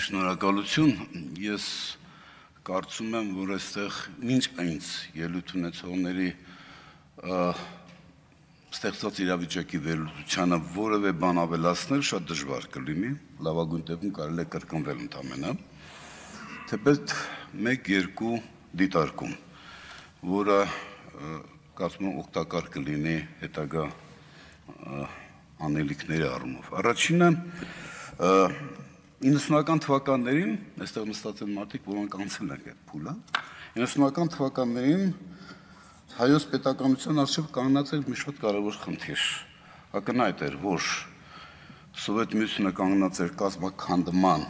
Շնորհակալություն, ես կարծում եմ, որ այստեղ մինչ այնց ելույթ ունեցողների ստեղծված իրավիճակի վերլուծությանը որևէ բան ավելացնել շատ դժվար կլինի, լավագույն դեպքում կարելի է կրկնվել ընդամենը, թեպետ մեկ-երկու դիտարկում, որը կարծում եմ օգտակար կլինի հետագա անելիքների առումով։ Առաջինը 90-ական թվականներին, այստեղ նստած են մարդիկ, որոնք անցել են այդ փուլը, 90-ական թվականներին հայոց պետականության առջև կանգնած էր մի շատ կարևոր խնդիր։ Ակնհայտ էր, որ Սովետ Միությունը կանգնած էր կազմաքանդման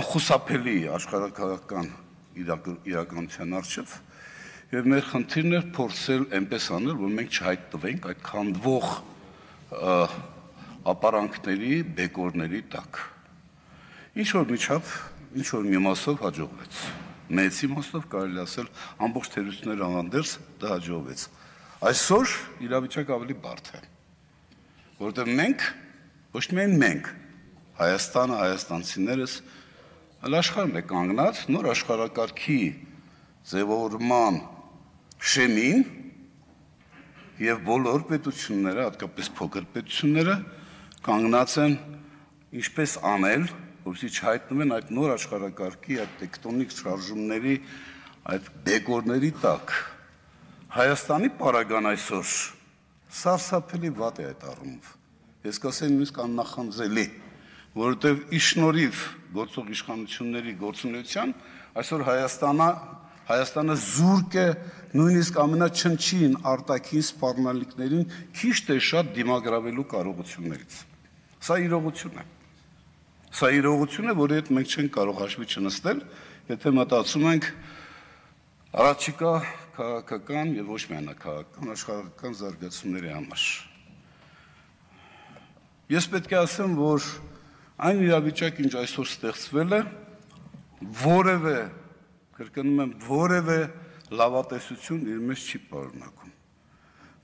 անխուսափելի աշխարհաքաղաքական իրականության առջև, եւ մեր խնդիրն էր փորձել այնպես անել, որ մենք չհայտնվենք այդ քանդվող ապարանքների, բեկորների տակ։ Ինչ որ միջավ, ինչ որ մի մասով հաջողվեց։ Մեծ իմաստով կարելի ասել ամբողջ թերություններ անհանդերձ դա հաջողվեց։ Այսօր իրավիճակը ավելի բարդ է, որովհետև մենք, ոչ միայն մենք, Հայաստանը, հայաստանցիներս, այլ աշխարհն է կանգնած նոր աշխարհակարգի ձևավորման շեմին եւ բոլոր պետությունները, հատկապես փոքր պետությունները, կանգնած են ինչպես անել, որպեսզի չհայտնվեն այդ նոր աշխարհակարգի, այդ տեկտոնիկ շարժումների, այդ բեկորների տակ։ Հայաստանի պարագան այսօր սարսափելի վատ է այդ առումով։ Ես կասեմ նույնիսկ աննախանձելի, որովհետև ի շնորհիվ գործող իշխանությունների գործունեության այսօր Հայաստանը զուրկ է նույնիսկ ամենաչնչին արտաքին սպառնալիքներին քիչ թե շատ դիմագրավելու կարողություններից։ Սա իրողություն է։ Սա իրողություն է, որի հետ մենք չենք կարող հաշվի չնստել, եթե մտածում ենք առաջիկա քաղաքական եւ ոչ միայն քաղաքական աշխարհական զարգացումների համար։ Ես պետք է ասեմ, որ այն իրավիճակը, ինչ այսօր ստեղծվել է, որևէ, կրկնում եմ, որևէ լավատեսություն իր մեջ չի պարունակում։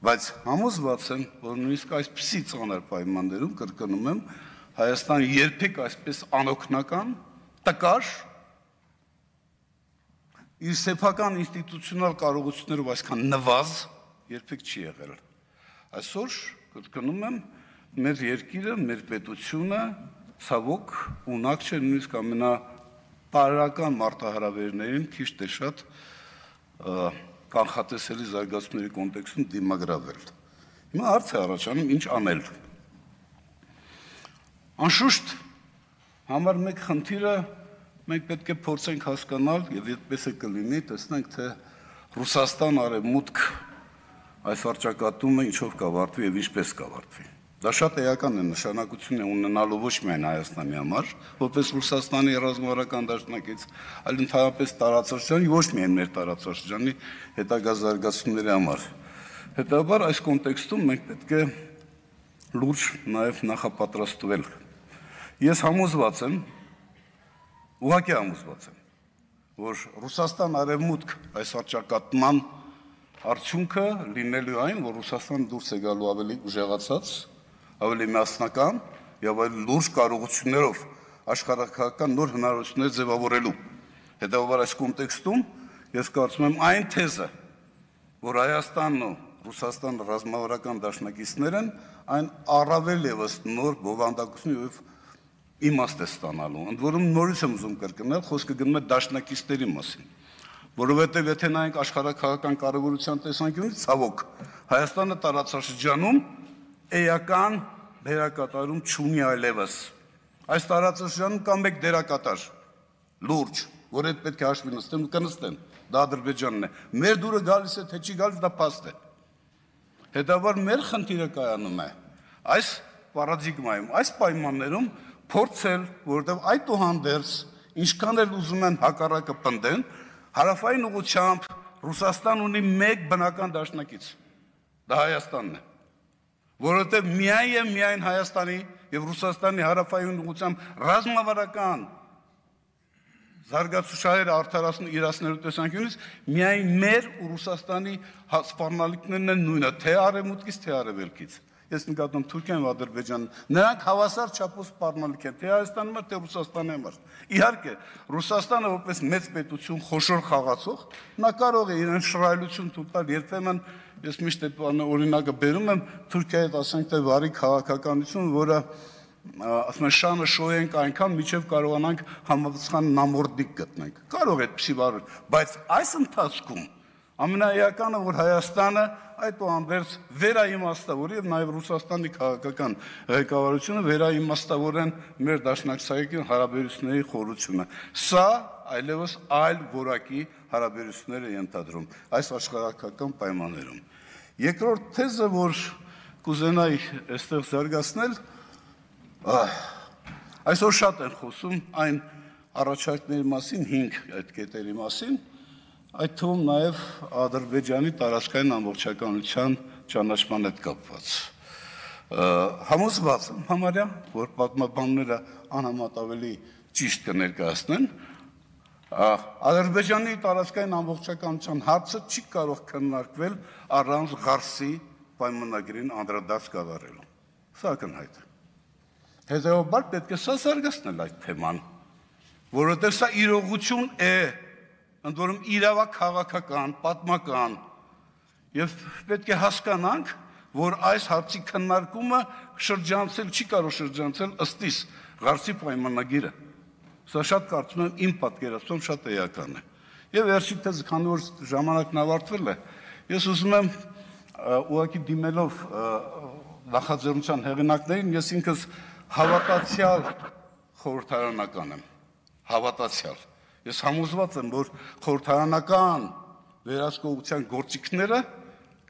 Բայց համոզված եմ, որ նույնիսկ այսպիսի ծանր պայմաններում, կրկնում եմ, Հայաստանը երբեք այսպես անօգնական, տկար, իր սեփական ինստիտուցիոնալ կարողություններով այսքան նվազ երբեք չի եղել։ Այսօր, կրկնում եմ, մեր երկիրը, մեր պետությունը ցավոք ունակ չէ նույնիսկ ամենապարական մարտահրավերներին քիչ թե շատ կանխատեսելի զարգացումների կոնտեքստում դիմագրավել։ Հիմա հարց է առաջանում ինչ անել։ Անշուշտ համար մեկ խնդիրը մենք պետք է փորձենք հասկանալ եւ այդպես է կլինի, տեսնենք թե Ռուսաստան արևմուտք այս վարչակարգումը ինչով կավարտվի եւ ինչպես կավարտվի։ Դա շատ էական է, նշանակություն է ունենալու ոչ միայն Հայաստանի համար, որպես Ռուսաստանի ռազմավարական դաշնակից, այլ ընդհանրապես տարածաշրջանի, ոչ միայն մեր տարածաշրջանի հետագա զարգացումների համար։ Հետաբար այս կոնտեքստում մենք պետք է լուրջ նաեւ նախապատրաստվել։ Ես համոզված եմ, ուղղակի համոզված եմ, որ Ռուսաստան արևմուտք այս վարչակարգման արդյունքը լինելու այն, որ Ռուսաստանը դուրս է գալու ավելի ուժեղացած, ավելի միասնական եւ այլ լուրջ կարողություններով աշխարհակաղակական նոր հնարավորություններ ձևավորելու։ Հետևաբար այս կոնտեքստում ես կարծում եմ այն թեզը, որ Հայաստանն ու Ռուսաստան ռազմավարական դաշնակիցներն այն առավել եւս նոր բովանդակություն եւ իմաստ է ստանալու։ Ընդ որում նորից եմ ուզում կրկնել, խոսքը գնում է դաշնակիցների մասին, որովհետև եթե նայենք աշխարհակաղակական կարևորության տեսանկյունից, ցավոք, Հայաստանը տարածաշրջանում էական դերակատարում չունի այլևս։ Այս տարածաշրջանում կա մեկ դերակատար, լուրջ, որ այդ պետք է հաշվի նստեն ու կնստեն, դա Ադրբեջանն է։ Մեր դուրը գալիս է, թե չի գալիս, դա փաստ է։ Հետաբար մեր խնդիրը կայանում է այս պարադիգմայում, այս պայմաններում փորձել, որովհետև այդուհանդերձ ինչքան էլ ուզում են հակառակը պնդեն, հարավային ուղղությամբ Ռուսաստան ունի մեկ բնական դաշնակից, դա Հայաստանն է, որովհետև միայն եւ միայն Հայաստանի եւ Ռուսաստանի հարավային ուղղությամբ ռազմավարական զարգացուցչահերը արդարացնու իրացնելու տեսանկյունից միայն մեր ու Ռուսաստանի սպառնալիքներն են նույնը, թե արևմուտքից, թե արևելքից։ Ես նկատում Թուրքիան ու Ադրբեջանը, նրանք հավասար չափով սպառնալիք են, թե Հայաստանի համար, թե Ռուսաստանի համար։ Իհարկե, Ռուսաստանը որպես մեծ պետություն, խոշոր խաղացող, նա կարող է իրեն շռայլություն թույլ տալ, երբեմն ես միշտ այդ օրինակը բերում եմ Թուրքիայի, ասենք թե վարի քաղաքականություն, որը ասում են շանը շոյենք այնքան, միջև կարողանանք համապատասխան նամորդիկ գտնենք։ Կարող է այդպիսի վարել, բայց այս ընթացքում ամենաէականը, որ Հայաստանը այդուհանդերձ վերաիմաստավոր եւ նաեւ Ռուսաստանի քաղաքական ղեկավարությունը վերաիմաստավորեն մեր դաշնակցային հարաբերությունների խորությունը։ Սա այլևս այլ որակի հարաբերություններ է ենթադրում այս աշխարհակական պայմաններում։ Երկրորդ թեզը, որ կուզենայի այստեղ զարգացնել, այսօր շատ են խոսում այն առաջարկների մասին, 5 այդ կետերի մասին, այդ թվում նաև Ադրբեջանի տարածքային ամբողջականության ճանաչման հետ կապված։ Համոզված եմ համարյա, որ պատմաբանները անհամեմատ ավելի ճիշտ կներկայացնեն, Ադրբեջանի տարածքային ամբողջականության հարցը չի կարող քննարկվել առանց Ղարսի պայմանագրին անդրադարձ կատարելու։ Սա ակնհայտ է։ Հետևաբար պետք է սա զարգացնել այդ թեման, որովհետև սա իրողություն է, ընդ որում իրավաքաղաքական, պատմական, եւ պետք է հասկանանք, որ այս հարցի քննարկումը շրջանցել չի կարող շրջանցել ըստիս Ղարսի պայմանագիրը։ Սա շատ կարծում եմ իմ պատկերացում շատ էական է։ Եվ վերջին թեզը, քանի որ ժամանակն ավարտվել է, ես ուզում եմ ուղղակի դիմելով նախաձեռնության հեղինակներին, ես ինքս հավատացյալ խորհրդարանական եմ, հավատացյալ։ Ես համոզված եմ, որ խորհրդարանական վերահսկողության գործիքները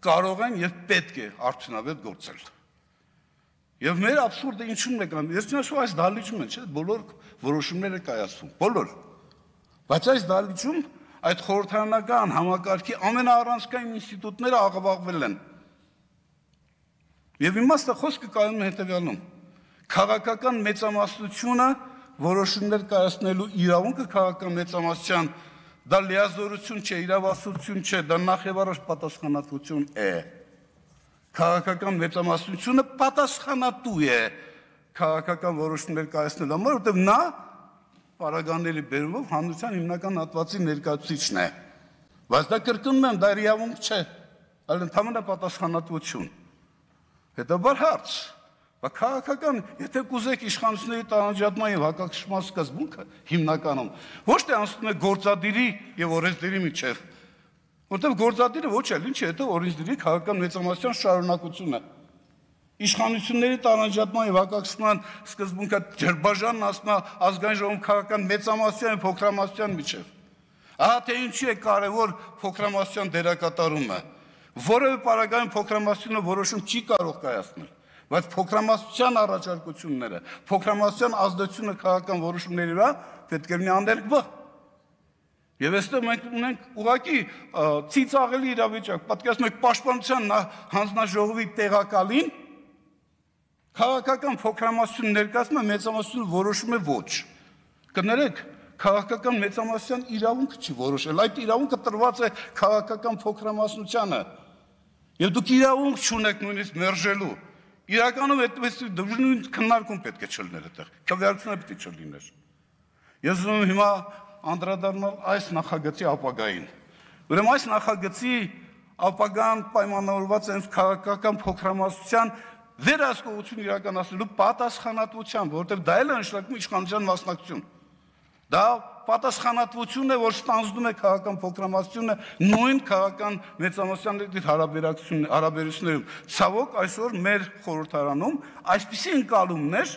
կարող են եւ պետք է արդյունավետ գործել։ Եվ մեր абսուրդը ինչու՞մն է կան։ Ես չնայած այս դահլիճում են, չէ՞, բոլոր որոշումները կայացվում, բոլոր։ Բայց այս դահլիճում այդ խորհրդարանական համակարգի ամենաառանցքային ինստիտուտները աղավաղվել են։ Եվ իմաստը խոսքը կայանում է հետևյալում. քաղաքական մեծամասնությունը որոշումներ կայացնելու իրավունքը քաղաքական մեծամասնության դա լիազորություն չէ, իրավասություն չէ, դա նախևառաջ պատասխանատվություն է։ Քաղաքական մեծամասնությունը պատասխանատու է քաղաքական որոշումներ կայացնելու համար, որտեղ նա պարագաների բերումով հանրության հիմնական հատվածի ներկայացուցիչն է։ Բայց դա կրկնում եմ, դա իրավունք չէ, այլ ընդհանրապես պատասխանատվություն։ Հետաբար հարց, քաղաքական, եթե կուզեք իշխանությունների տարանջատման եւ հակակշռման սկզբունքը հիմնականում ոչ թե անցնում է գործադիրի եւ օրենսդիրի միջեւ, որտեղ գործադիրը ոչ էլ ինչ է, դա օրենսդիրի քաղաքական մեծամասնության շարունակությունը։ Իշխանությունների տարանջատման եւ հակակշռման սկզբունքը ջրբաժանն ասում է ազգային ժողովում քաղաքական մեծամասնության եւ փոքրամասնության միջեւ։ Ահա թե ինչի է կարեւոր փոքրամասնության դերակատարումը։ Որևէ պարագայում փոքրամասնությունը որոշում չի կարող կայացնել, բայց փոքրամասնության առաջարկությունները, փոքրամասնության ազդեցությունը քաղաքական որոշումների վրա պետք է լինի աներկբա։ Եվ այստեղ մենք ունենք ուղղակի ծիծաղելի իրավիճակ, պատկերացնում եք պաշտպանության հանձնաժողովի տեղակալին քաղաքական փոքրամասնություն ներկայացնում է, մեծամասնությունը որոշում է ոչ։ Կներեք, քաղաքական մեծամասնության իրավունքը չի որոշել, այդ իրավունքը տրված է քաղաքական փոքրամասնությանը։ Եվ դուք իրավունք չունեք նույնիսկ մերժելու։ Իրականում այդպես նույն քննարկում պետք է չլիներ այդտեղ, քվեարկությունը պետք է չլիներ։ Ես ուզում եմ հիմա անդրադառնալ այս նախագծի ապագային։ Ուրեմն այս նախագծի ապագան պայմանավորված է քաղաքական փոքրամասնության վերահսկողություն իրականացնելու պատասխանատվությամբ, որովհետև դա էլ է նշանակում իշխանության մասնակցություն։ Դա պատասխանատվություն է, որ ստանձնում է քաղաքական փոքրամասնությունը նույն քաղաքական մեծամասնության հարաբերություններում։ Ցավոք այսօր մեր խորհրդարանում այսպիսի ընկալումներ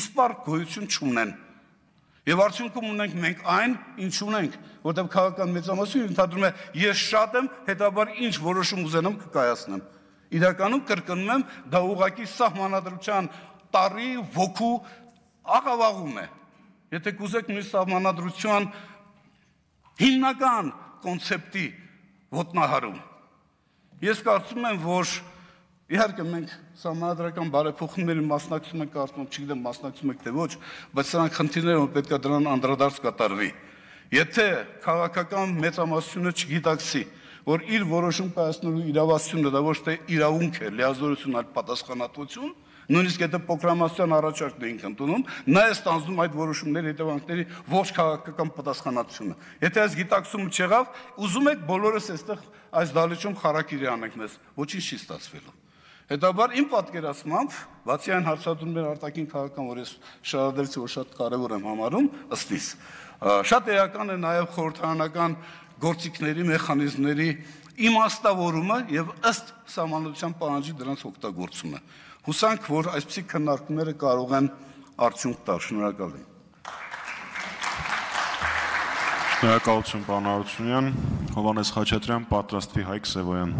իսպառ գոյություն չունեն։ Եվ արդյունքում ունենք մենք այն, ինչ ունենք, որտեղ քաղաքական մեծամասնությունը ընդհանրում է ես շատ եմ, հետաբար ինչ որոշում ուզենամ կկայացնեմ։ Իրականում կրկնում եմ, դա ուղղակի սահմանադրության տարի ոգու աղավաղում է։ Եթե կուզեք նույն սահմանադրության հիմնական կոնցեպտի ոտնահարում։ Ես կարծում եմ, որ իհարկե մենք սահմանադրական բարեփոխումների մասնակցում ենք, կարծում եմ, չգիտեմ մասնակցում եք թե ոչ, բայց սրանք խնդիրներ են, որ պետք է դրան անդրադարձ կատարվի։ Եթե քաղաքական մեծամասնությունը չգիտակցի, որ իր որոշում կայացնելու իրավասությունը դա ոչ թե իրավունք է, լիազորություն, այլ պատասխանատվություն, նույնիսկ եթե փոքրամասնության առաջարկն էինք ընդունում, նա է ստանձնում այդ որոշումների հետևանքների ողջ քաղաքական պատասխանատվությունը։ Եթե այս գիտակցումը չեղավ, ուզում եք բոլորս այստեղ այս դահլիճում խարակիրի անենք մեզ, ոչինչ չի ստացվելու։ Հետաբար իմ պատկերացմամբ, բացի այն հարցադրումների արտաքին քաղաքական, որ ես շարադրեցի, որ շատ կարևոր եմ համարում, ըստիս, շատ էական է նաև խորհրդարանական գործիքների, մեխանիզմների իմաստավորումը եւ ըստ սահմանադրության պահանջի դրանց օգտագործումը։ Հուսանք, որ այսպիսի քննարկումները կարող են արդյունք տալ։ Շնորհակալ եմ։ Շնորհակալություն, պարոն Արությունյան, Հովհաննես Խաչատրյան, պատրաստվի Հայկ Սևոյան։